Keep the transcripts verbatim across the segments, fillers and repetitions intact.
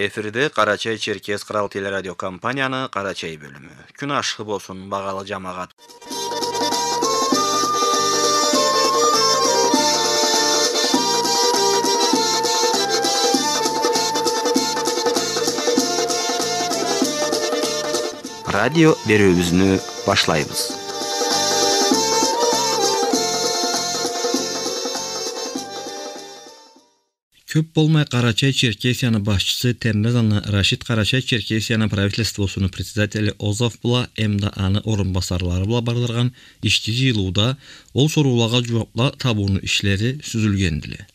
Эфирде Къарачай-Черкес Кърал телерадиокомпанияны Къарачай бёлюмю. Кюн ашхы болсун, багъалы джамагъат. Радио бериуюбюзню башлайбыз. Кёп болмай Къарачай-Черкесияны башчысы Темрезаны Рашид Къарачай-Черкесияны правительствосуну председатели Озов бла эмда аны орунбасарлары бла бардыргъан ички джыйылыуда ол соруулагъа джууабла табыуну ишлери сюзюлгендиле.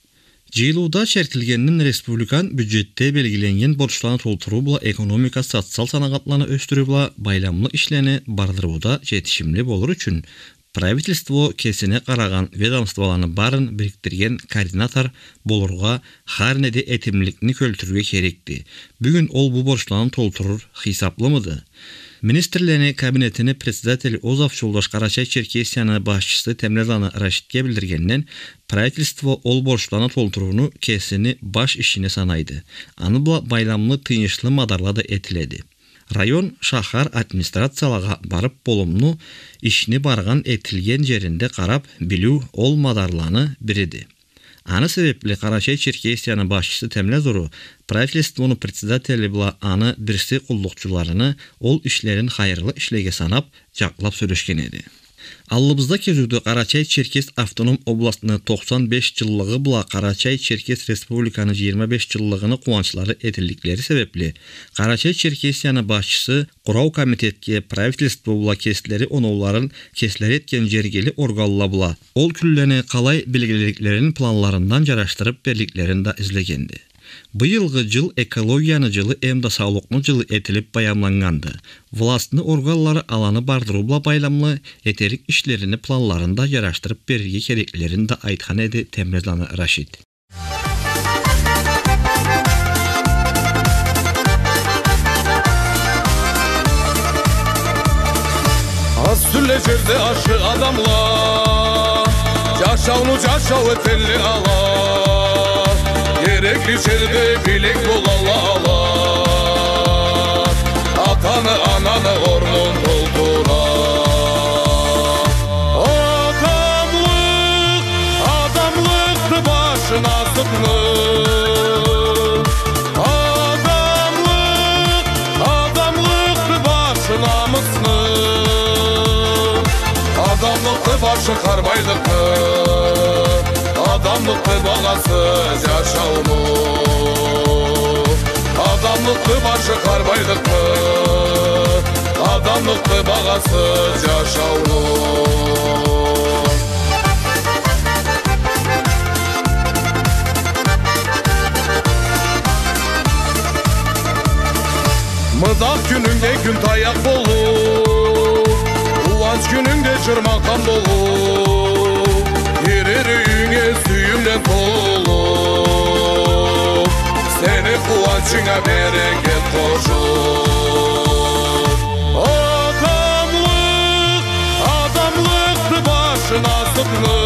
Джыйылыуда чертилгенден республикан бюджетде белгиленнген борчланы толтуруу бла экономика, социал санагъатланы ёсдюрүү бла байламлы ишлени бардырыуда джетишимли болур ючюн правительство кесине къарагъан ведомстволаны барын бирикдирген координатор болургъа, хар неде этимликни кёлтюрюрге керекди. Бюгюн ол бу борчланы толтурур хыйсаблымыды? Министрлени кабинетини председатели Озов джолдаш Къарачай-Черкесияны башчысы Темрезаны Рашидге билдиргенден, правительство ол борчланы толтурууну кесини баш ишине санайды. Аны бла байламлы тыйыншлы мадарла да этиледи. Район, шахар администрациялагъа барыб, болумлу ишни баргъан, этилген джеринде къараб билиу ол мадарланы бириди. Аны себебли Къарачай-Черкесияны башчысы Темрез уру правительствону председатели бла аны бирси къуллукъчуларыны ол ишлерин хайырлы ишлеге санаб, джакълаб сёлешген эди. Аллыбызда кезиуде Къарачай-Черкес автоном областны тохсан беш джыллыгъы бла Къарачай-Черкес Республиканы джыйырма беш джыллыгъыны къууанчлары этилликлери себебли, Къарачай-Черкесияны башчысы къурау комитетге правительство бла кеслери оноуларын кеслери этген джергили органла бла ол кюнлени къалай белгилериклерин планларындан джарашдырыб берликлерин да излегенди. Быйылгъы джыл экологияны джылы эмда саулукъну джылы этилиб баямланнганды. Властны органлары аланы бардырыу бла байламлы этерик ишлерини планларын да джарашдырыб берирге кереклерин да айтхан эди Темрезаны Рашид. Аз тюлле джерде ашхы адамла, джашауну джашау этелле ала. Керекли джерде билек болалла ала. Атаны, ананы орнун толтура. Адамлыкъ, адамлыкъды баш насыбны. Адамлыкъ, адамлыкъды баш намысны. Адамлыкъды башы хар байлыкъны. Адамлыкъды багъасы джашауну. Адамлыкъды башы хар байлыкъны. Адамлыкъды багъасы джашауну. Мыдах кюнюнгде кюн таякъ болуб, къууанч кюнюнгде джыр-макъам болуб, гирер юйюнге сюйюмден толуб, сени къууанчынга берекет къошуб. Адамлыкъ, адамлыкъды баш насыбны.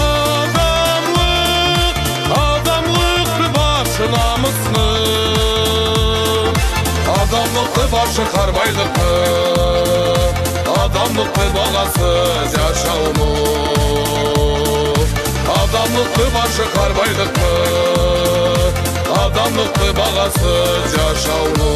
Адамлыкъ, адамлыкъды баш намысны. Адамлыкъды башы хар байлыкъны. Адамлыкъды багъасы джашауну. Адамлыкъды башы хар байлыкъны. Адамлыкъды багъасы джашауну.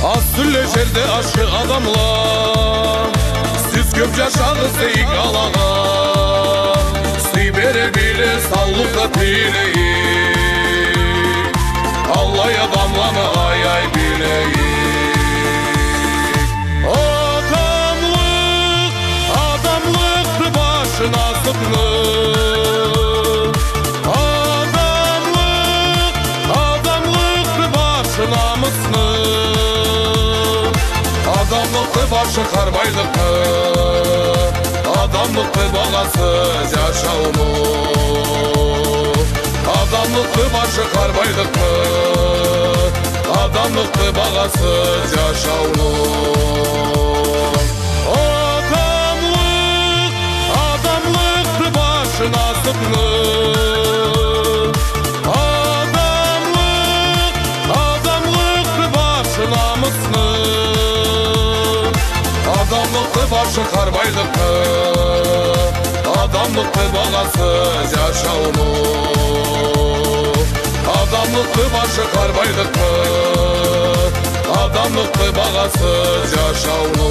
Аз тюлле жерде ашхы адамла, сиз кёп жашагъыз дейик алагъа. Сый бере биле, саулукъ да тилейик. Аллай адамланы аяй билейик. Адамлыкъ, адамлыкъды башы насыпны. Адамлыкъ, адамлыкъды башы намысны. Адамлыкъды башы хар байлыкъны. Адамлыкъды багъасы жашауну. Адамлыкъды башы хар байлыкъны. Адамлыкъды багъасы жашауну. Адамлыкъ, адамлыкъды башы насыпны. Адамлыкъ, адамлыкъды башы намысны. Адамлыкъды башы хар байлыкъны. Адамлыкъды багъасы жашауну. Адамлыкъды башы хар байлыкъны. Адамлыкъды багъасы жашауну.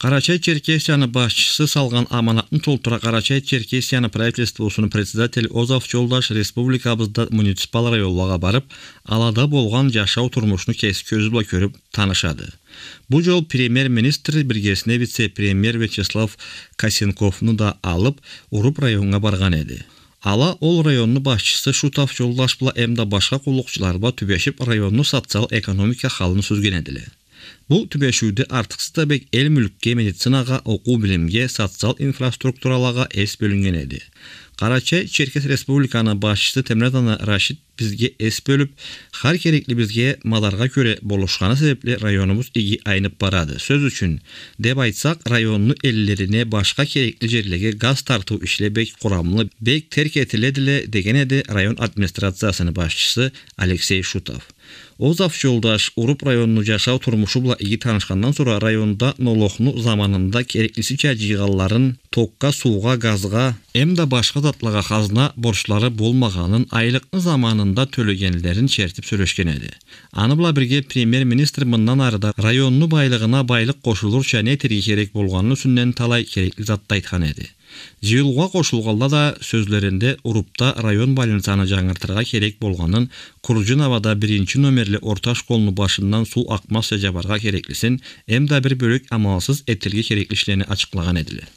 Къарачай-Черкесияны башчысы салгъан аманатны толтура Къарачай-Черкесияны правительствосуну председатели Озаф Жолдаш республикабызда муниципал районлагъа барып, алада болгъан жашау турмушну кеси кёзю бла кёрюп танышады. Бу жол премьер-министр биргесине вице-премьер Вячеслав Косенковну да алып, Уруп районнга баргъан эди. Ала ол районну башчысы Шутов Жолдаш бла эмда башха къуллукъчулары бла тюбешип, районну социал-экономика халын сюзген эдиле. Бу тюбешиуде артыкъсыз да бек эл мюлкге, медицинагъа, окъуу-билимге, социал инфраструктуралагъа эс бёлюннген эди. Къарачай-Черкес Республиканы башчысы Темрезаны Рашид бизге эс бёлюп, хар кереклибизге мадаргъа кёре болушханы себепли районубуз иги айнып барады. Сёз ючюн, деп айтсакъ, районну эллерине, башха керекли жерлеге газ тартыу ишле бек къурамлы, бек терк этиледиле, деген эди район администрациясыны башчысы Алексей Шутов. Озаф Жолдаш Уруп районну жашау турмушу бла иги танышхандан сора районда нологну заманында кереклисича жыйгъанларын, токга, суугъа, газгъа, эмда башха затлагъа хазна борчлары болмагъанын, айлыкъны заманында тёлегенлерин чертип сёлешген эди. Аны бла бирге премьер-министр мындан ары да районну байлыгъына байлыкъ къошулурча не этерге керек болгъаныны юсюнден талай керекли затла айтхан эди. Жыйылыугъа къошулгъанла да сёзлеринде Урупда район больницаны жангыртыргъа керек болгъанын, Курджиновада биринчи номерли орта школну башындан суу акъмазча жабаргъа кереклисин, эмда бир бёлек амалсыз этилирге керекли ишлени ачыкълагъан эдиле.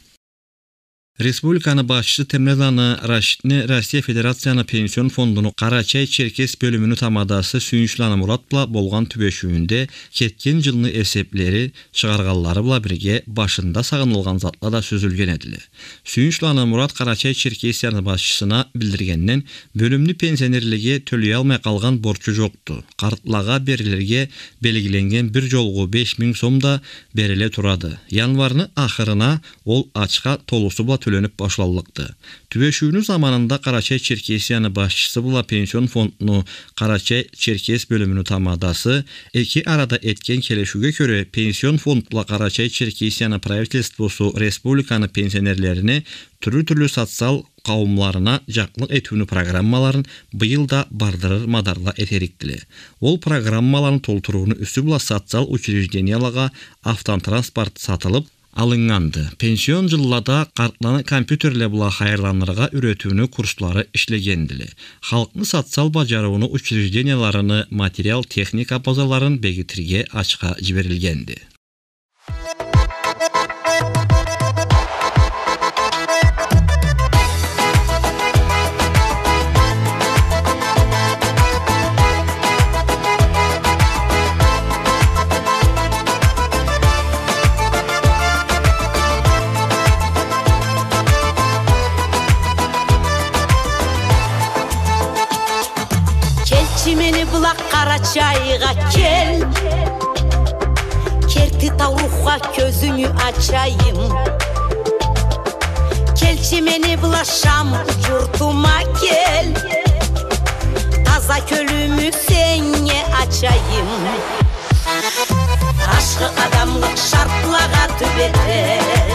Республиканы башчысы Темрезаны Рашидни Россия Федерацияны Пенсион фондуну Къарачай-Черкес бёлюмюню тамадасы Сюйюнчланы Мурат бла болгъан тюбешиуюнде кетген жылны эсеплери чыгъаргъанлары бла бирге башында сагъынылгъан затла да сёзюлген эдиле. Сюйюнчланы Мурат Къарачай-Черкесияны башчысына билдиргенден, бёлюмню пенсионерлеге тёлеялмай къалгъан борчу жокъду. Къартлагъа берилирге белгиленнген бир жолгъу беш минг сом да бериле турады. Январны ахырына ол ачха толусу бла тёленип башланлыкъды. Тюбешиуню заманында Къарачай-Черкесияны башчысы бла Пенсион фондну Къарачай-Черкес бёлюмюню тамадасы эки арада этген келишиуге кёре, Пенсион фонд бла Къарачай-Черкесияны правительствосу республиканы пенсионерлерини тюрлю-тюрлю социал къауумларына жакълыкъ этиуню программаларын быйыл да бардырыр мадарла этерикдиле. Ол программаланы толтурууну юсю бла социал учреждениялагъа автотранспорт сатылып алыннганды. Пенсион жыллада къартланы компьютерле бла хайырланыргъа юретиуню курслары ишлегендиле. Халкъны социал бажарыуну учрежденияларыны материал-техника базаларын бегитирге ачха жиберилгенди. Келчи мени бла Къарачайгъа кел. Керти таурухха кёзюнгю ачайым. Келчи мени бла Шам журтума кел. Таза кёлюмю сеннге ачайым. Ашхы адамлыкъ шартлагъа тюбете.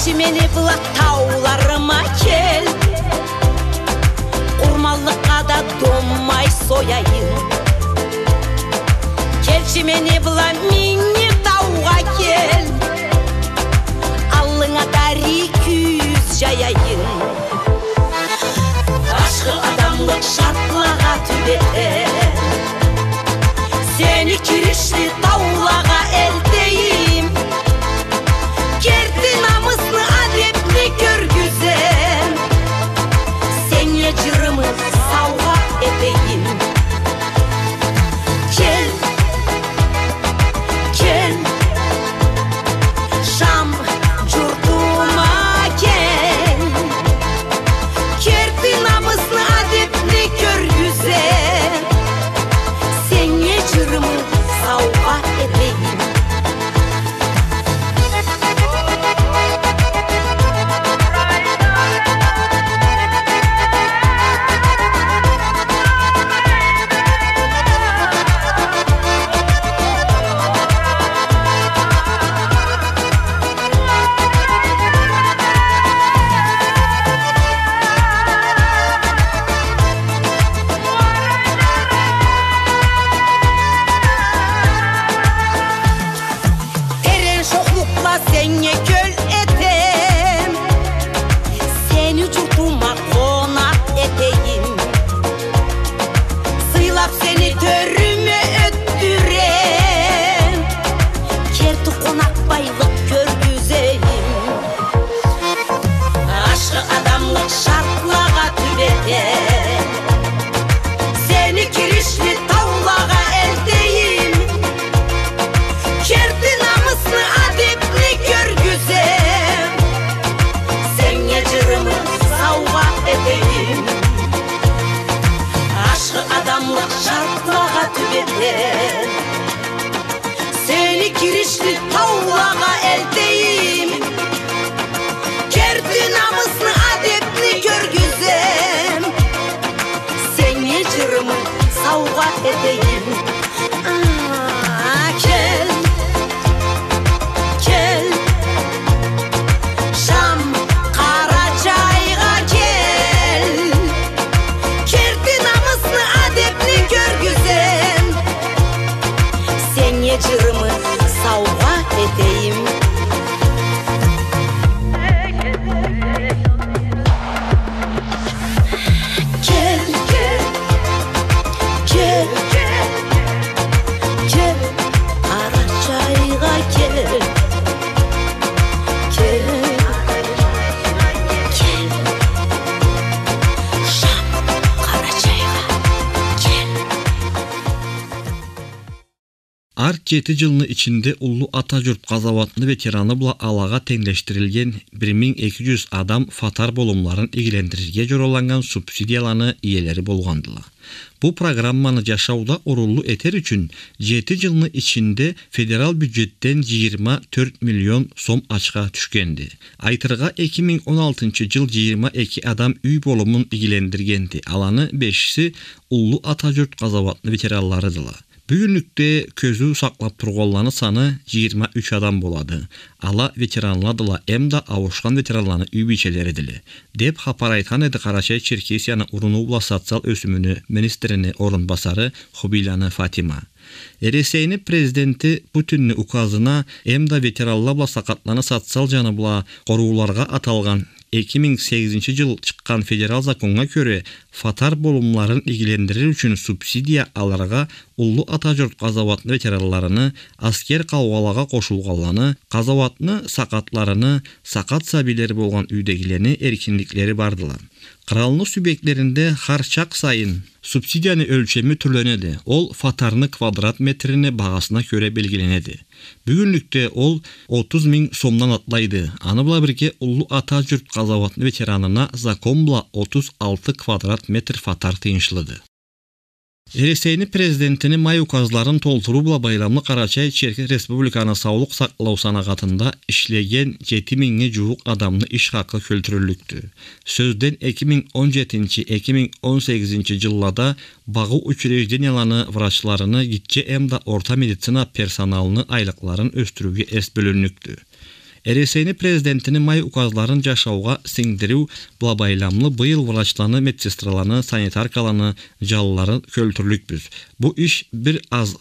Мени бла тауларыма кел, къурманлыкъгъа да дом май сояйым. Келчи мени бла Минги таугъа кел, аллынга дарий кюз жаяйым. Ашхы адамлыкъ шартлагъа тюбетем, сени киришли таулагъа элтейим. Керти намысны, адепни кёргюзем, сеннге жырымы саугъа этейим. Кел, кел, Шам журтума кел. Керти намысны, адепни кёргюзем, сеннге жырымы саугъа этейим. Терен шохлукъла сеннге кёл этем, сени журтума къонакъ этейим. Сыйлап сени тёрюме ётдюрем, керти къонакъбайлыкъ кёргюзейим. Ашхы адамлыкъ шартлагъа тюбетем, сени киришли таулагъа элтейим. Керти намысны, адепни кёргюзем, сеннге жырымы саугъа этейим. Ашхы адамлыкъ шартлагъа тюбетем, сени киришли таулагъа элтейим. Керти намысны, адепни кёргюзем, сеннге жырымы саугъа этейим. А, кел, кел, Шам, Къарачайгъа кел. Керти намысны, адепни кёргюзем, сеннге жырымы саугъа этейим. Кел, кел, кел, кел, кел, Къарачайгъа кел. Кел, кел, Шам, Къарачайгъа кел. Ар жети жылны ичинде Уллу Ата журт къазауатны ветераны бла алагъа тенглешдирилген бир минг эки жюз адам фатар болумларын игилендирирге жораланнган субсидияланы иелери болгъандыла. Бу программаны жашауда орунлу этер ючюн жети жылны ичинде федерал бюджетден жыйырма тёрт миллион сом ачха тюшгенди. Айтыргъа, эки минг он алтынчы жыл жыйырма эки адам юй болумун игилендиргенди. Аланы бешиси Уллу Ата журт къазауатны ветеранларыдыла. Бюгюнлюкде кёзюу сакълап тургъанланы саны жыйырма юч адам болады. Ала ветеранладыла эмда ауушхан ветеранланы юй бийчелеридиле, деп хапар айтхан эди Къарачай-Черкесияны уруну бла социал ёсюмюню министрини орунбасары Хубийланы Фатима. Эресейни президенти Путинни указына эмда ветеранла бла сакъатланы социал жаны бла къорууларгъа аталгъан эки минг сегизинчи жыл чыкъгъан федерал законнга кёре, фатар болумларын игилендирир ючюн субсидия алыргъа Уллу Ата журт къазауатны ветеранларыны, аскер къаугъалагъа къошулгъанланы, къазауатны сакъатларыны, сакъат сабийлери болгъан юйдегилени эркинликлери бардыла. Къралны субъектлеринде хар чакъ сайын субсидияны ёлчеми тюрленеди. Ол фатарны квадрат метрини багъасына кёре белгиленеди. Бюгюнлюкде ол отуз минг сомдан атлайды. Аны бла бирге Уллу Ата журт къазауатны ветеранына закон бла отуз алты квадрат метр фатар тыйыншлыды. Эресейни президентини май указларын толтуруу бла байламлы Къарачай-Черкес Республиканы саулукъ сакълау санагъатында ишлеген жети мингнге жууукъ адамны иш хакъы кёлтюрюллюкдю. Сёзден, эки минг он жетинчи, эки минг он сегизинчи жыллада багъыу учрежденияланы врачларыны, гитче эмда орта медицина персоналыны айлыкъларын ёсдюрюуге эс бёлюннюкдю. Эресейни президентини май указларын джашаугъа сингдириу бла байламлы быйыл врачланы, медсестраланы, санитаркаланы джанларын кёлтюрлюкбюз. Бу иш бир аз-,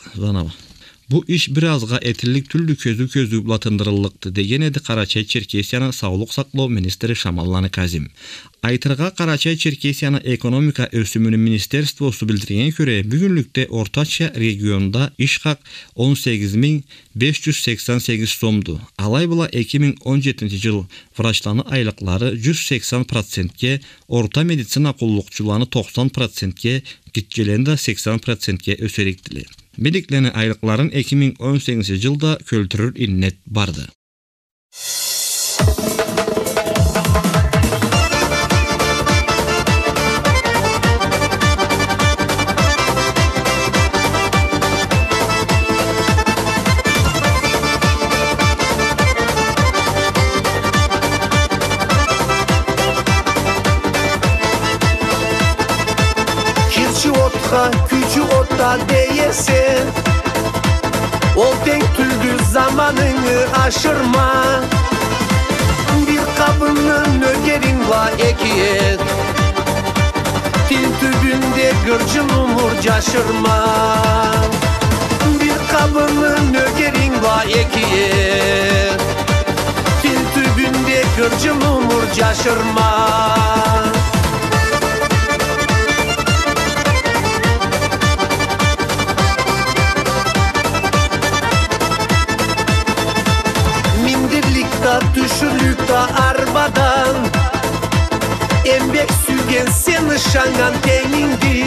Бу иш бир азгъа этиллик тюлдю, кёзюу-кёзюу бла тындырыллыкъды, деген эди Къарачай-Черкесияны саулукъ сакълау министри Шамалланы Казим. Айтыргъа, Къарачай-Черкесияны экономика ёсюмюню министерствосу билдиргеннге кёре, бюгюнлюкде ортача регионда иш хакъ он сегиз минг беш джюз сексен сегиз сомду. Алай бла эки минг он джетинчи джыл врачланы айлыкълары джюз сексен процентге, орта медицина къуллукъчуланы токъсан процентге, гитчелени да сексен процентге ёсерикдиле. Медиклени айлыкъларын эки минг он сегизинчи джылда кёлтюрюр иннет барды. Кирчи отха, кючю отда дей эсе, ол тенг тюлдю, заманынгы ашырма. Бир къабынны нёгеринг бла эки эт, тил тюбюнде гырджын умур джашырма. Бир къабынны нёгеринг бла эки эт, тил тюбюнде гырджын умур джашырма. Миндирлик да, тюшюрлюк да арбадан, эмбек сюйген сени ышаннган тенгингди.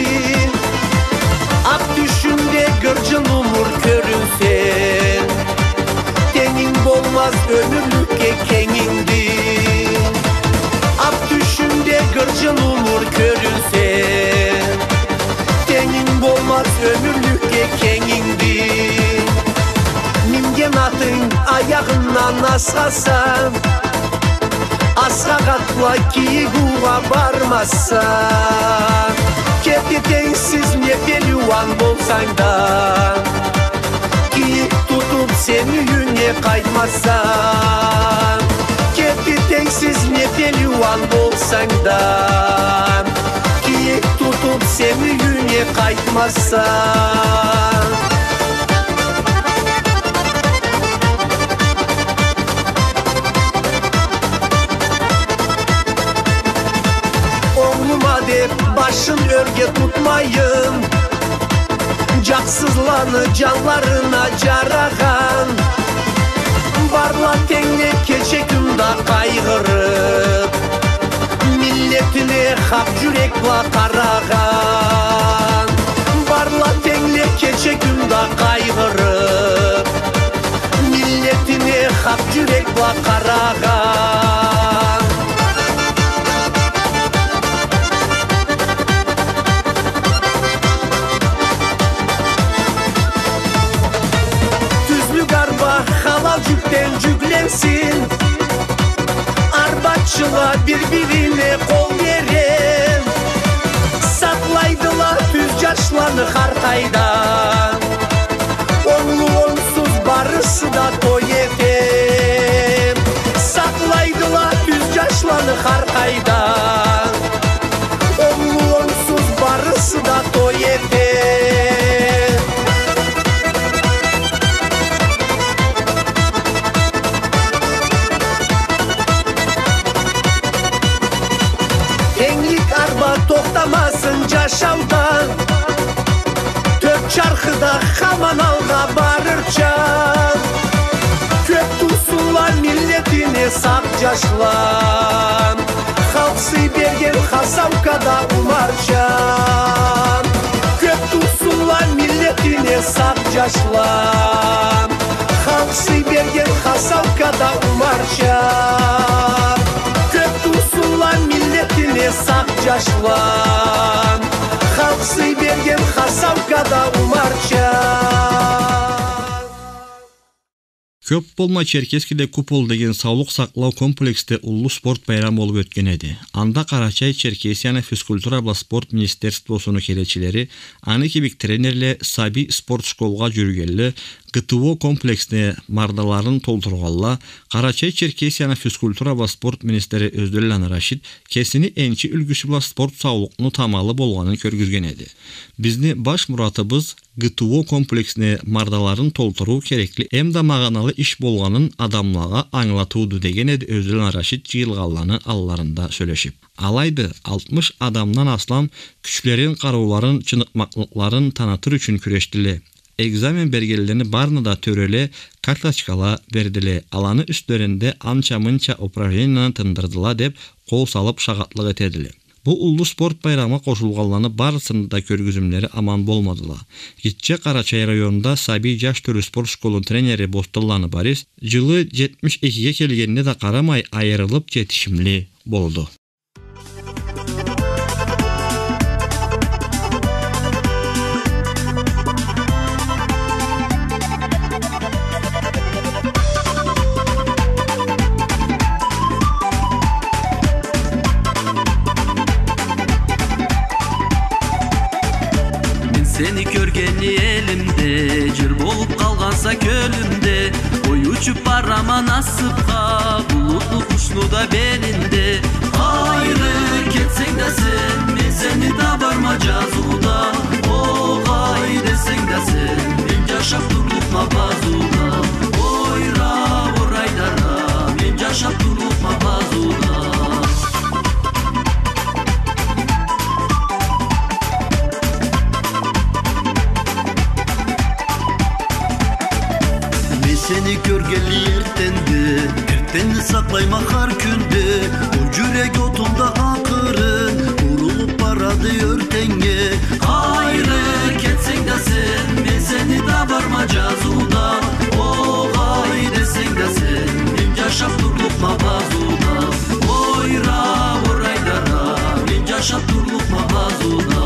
Акъ тюшюнде гырджын умур кёрюнсе, тенгинг болмаз ёмюрлюкге кенгингди. Акъ тюшюнде гырджын умур кёрюнсе, тенгинг болмаз ёмюрлюкге кенгингди. Минген атынг аягъындан асхаса, асхакъ атла кийик уугъа бармаса. Кети тенгсиз не пелиуан болсанг да, кийик тутуб сен юйюнге къайтмаса. Кети тенгсиз не пелиуан болсанг да, кийик тутуб сен юйюнге къайтмаса. Онглума деб башын ёрге тутмайын, джакъсызланы джанларына джарагъан. Барла тенгле кече-кюн да къайгъырыб, миллетине хакъ джюрек бла къарагъан. Барла тенгле кече-кюн да къайгъырыб, миллетине хакъ джюрек бла къарагъан. Тюзлюк арба халал джюкден джюкленсин. Арбачыла бир-бирине къол бере, сакълайдыла тюз джашланы хар къайда. Онглу-онсуз барысы да той эте, сакълайдыла тюз джашланы хар къайда. Онглу-онсуз барысы да той эте. Тенглик арба тохтамасын джашауда, тёрт чархыда хаман алгъа барырча. Кёб тусунла миллетине сакъ джашла, халкъ сый берген хасаукада умарча. Кёб тусунла миллетине сакъ джашла, халкъ сый берген хасаукада умарча. Кёб тусунла миллетине сакъ джашла, халкъ сый берген хасаукада умарча. Кёп болмай Черкесскеде «Купол» деген саулукъ сакълау комплексде уллу спорт байрам болуп ётген эди. Анда Къарачай-Черкесияны физкультура бла спорт министерствосуну келечилери, аны кибик тренерле, сабий спорт школгъа жюрюгенле, ГТО комплексни мардаларын толтургъанла, Къарачай-Черкесияны физкультура бла спорт министри Ёзденланы Рашид кесини энчи юлгюсю бла спорт саулукъну тамалы болгъанын кёргюзген эди. Бизни баш муратыбыз ГТО комплексни мардаларын толтуруу керекли эмда магъаналы иш болгъанын адамлагъа ангылатыуду, деген эди Ёзденланы Рашид жыйылгъанланы алларында сёлешип. Алайды, алтмыш адамдан аслам кючлерин, къарыуларын, чыныкъмакълыкъларын танытыр ючюн кюрешдиле. Экзамен бергенлени барына да тёреле, карточкала бердиле. Аланы юслеринде анча-мынча упражненияны тындырдыла деп, къол салып шагъатлыкъ этедиле. Бу уллу спорт байрамгъа къошулгъанланы барысыны да кёргюзюмлери аман болмадыла. Гитче Къарачай районунда сабий-жаш тюрлю спорт школуну тренери Бостанланы Борис жылы жетмиш экиге келгенине да къарамай, айырылып жетишимли болду. Мен сени кёргенли элимде, жыр болуп къалгъанса кёлюмде. Ой, учуп барама насыпха, булутну къушну да белинде. Къайры кетсенг да сен, мен сени табарма жазыуда. Огъай десенг да сен, мен жашап турлукъма базыуда. Ойра, орайдара, мен жашап турлукъма базыуда. Мен сени кёргенли эртденде, эртденни сакълайма хар кюнде. Ол жюрек отум да акъырын урулуп барады ёртеннге. Къайры кетсенг да сен, мен сени табарма жазыуда. Огъай десенг да сен, мен жашап турлукъма базыуда. Ойра, орайдара, мен жашап турлукъма базыуда.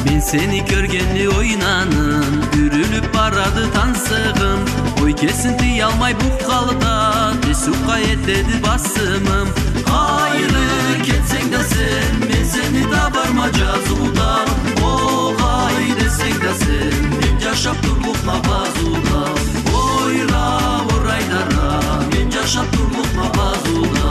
Мен сени кёргенли ойнаным, юрюлюп барады тансыгъым. Ой, кесин тыялмай букъалда, тез сукъа этеди басымым. Къайры кетсенг да сен, мен сени табарма жазыуда. Огъай десенг да сен, мен жашап турлукъма базыуда. Ойра, орайдара, мен жашап турлукъма базыуда.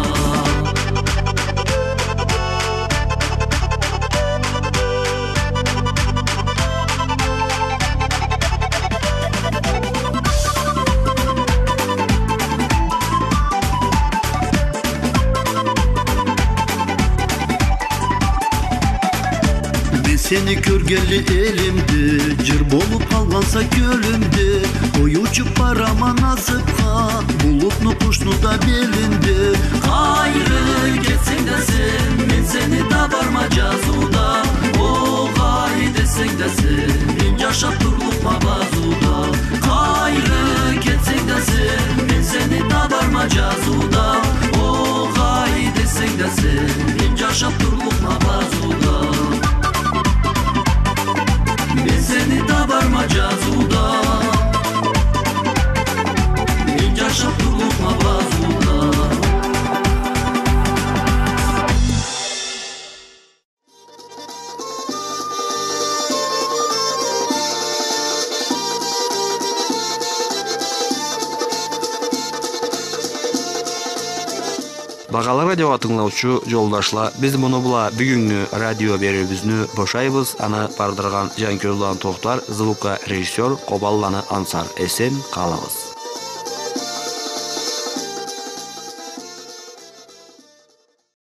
Мен сени кёргенли элимде, жыр болуп къалгъанса кёлюмде. Ой, учуп барама насыпха, булутну къушну да белинде. Къайры кетсенг да сен, мен сени табарма жазыуда. Огъай десенг да сен, мен жашап турлукъма базыуда. Къайры кетсенг да сен, мен сени табарма жазыуда. Огъай десенг да сен, мен жашап турлукъма базыуда. Мен сени табарма жазыуда. Мен жашап турлукъма базыуда. Багъалы радио тынгылаучу жолдашла, биз муну бла бюгюннгю радио бериуюбюзню бошайбыз. Аны бардыргъан Жанкёзланы Тохтар, звукорежиссёр Къобанланы Ансар. Эсен къалыгъыз.